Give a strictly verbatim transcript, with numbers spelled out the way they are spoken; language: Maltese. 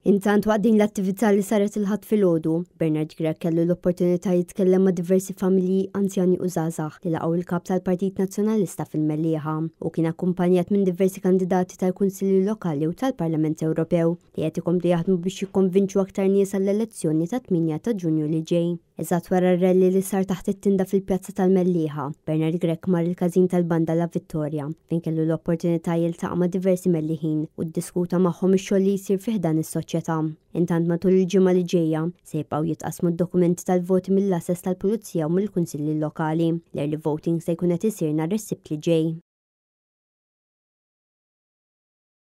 Intant, waqt din l-attività li saret il-Ħadd filgħodu, Bernard Grech kellu l-opportunità jitkellem ma' diversi familji, anzjani u żgħażagħ li laqgħu il-kap tal-Partit Nazzjonalista fil-Mellieħa u kien akkumpanjat minn diversi kandidati tal-Kunsilli Lokali u tal-Parlament Ewropew li qed ikomplu jaħdmu biex jikkonvinċu aktar nies għall-elezzjoni ta' tmienja ta' Ġunju li ġej. Eżatt wara r-rally li sar taħt it-tinda fil-pjazza tal-Mellieħa, Bernard Grech mar il-każin tal-banda La Vittoria, fejn kellu l-opportunità jiltaqa' ma' diversi Melliħin u ddiskuta magħhom ix-xogħol li jsir fih dan is-soċjetà. Intant, matul il-ġimgħa li ġejja se jibqgħu jitqasmu d-dokumenti tal-voti mill-għases tal-Pulizija u mill-Kunsilli Lokali. L-early voting se jkun qed isir nhar is-Sibt li ġej.